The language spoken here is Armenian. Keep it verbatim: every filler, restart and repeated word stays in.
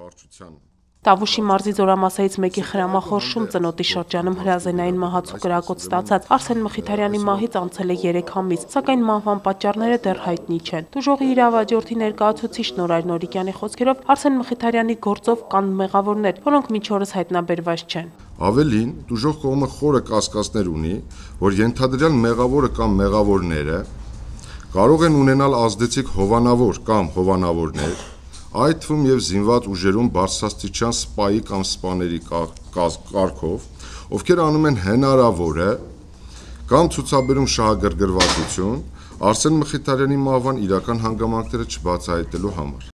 վարչության։ Տավուշի մարզի զորամասերից մեկի խրամախորշում ծնոտի շրջանում հրազենային մահացու կրակոտ ստացած Արսեն Մխիթարյանի մահից անցել է երեք ամիս, սակայն մահվան պատճառները դեռ հայտնի չեն։ Դուժողի իրավաճորթի ներկայացուցիչ Նորայր Նորիկյանի խոսքերով Արսեն Մխիթարյանի գործով կան մեղավորներ, որոնք մինչ օրս հայտնաբերված չեն։ Ավելին, դուժող կողմը խորը կասկածներ ունի, որ ենթադրյալ մեղավորը կամ մեղավորները կարող են ունենալ ազդեցիկ հովանավոր կամ հովանավորներ, այդ թվում եւ զինված ուժերում բարձրաստիճան սպայի կամ սպաների կարգով, ովքեր անում են հնարավորը կամ ցուցաբերում շահագրգռվածություն Արսեն Մխիթարյանի մահվան իրական հանգամանքները չբացահայտելու համար։